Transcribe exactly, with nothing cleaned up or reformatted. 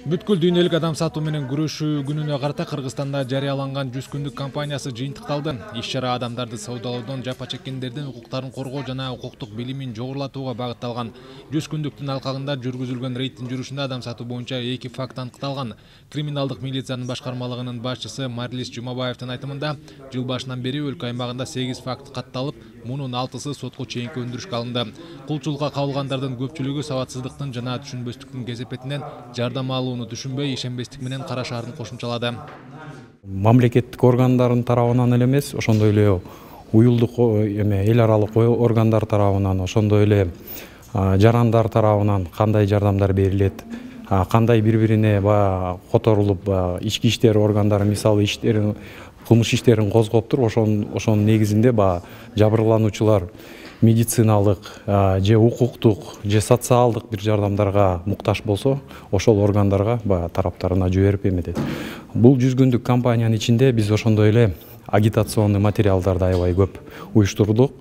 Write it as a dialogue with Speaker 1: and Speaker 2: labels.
Speaker 1: Бүткүл дүйнөлүк адам сатуу менен күрөшүү күнүнө карата Кыргызстанда жарыяланган жүз күндүк кампаниясы жыйынтыкталды. Иш-чара адамдарды саудалоодон жапа чеккендердин укуктарын коргоо жана укуктук билимин жогорулатууга багытталган. жүз күндүктүн алкагында жүргүзүлгөн рейдтин жүрүшүндө адам сатуу боюнча эки факт аныкталган. Криминалдык милициянын башкармалыгынын башчысы Марлис Жумабаевдин айтымында, жыл башынан бери өлкө аймагында сегиз факт катталып, мунун алтысы сотко чейинки өндүрүшкө алынды. Кулчулукка кабылгандардын көпчүлүгү сабатсыздыктын жана түшүнбөстүктүн кесепетинен жардам алууну түшүнбөй, ишенбестик менен карашаарын кошумчалады.
Speaker 2: Мамлекеттик органдардын тарабынан эле эмес, ошондой эле уюлдук эме эл аралык органдар тарабынан, ошондой эле жарандар тарабынан кандай жардамдар берилет, кандай бири-бирине баягы которулуп ички иштер органдары мисалы иштерин кылмыш иштерин козгоптур, ошонун ошонун негизинде баягы жабырлануучулар медициналык же укуктук же социалдык бир жардамдарга муктаж болсо, ошол органдарга баягы тараптарына жиберип эметет. Бул жүз күндүк кампаниянын ичинде биз ошондой эле агитационный материалдарды аябай көп уюштурдук.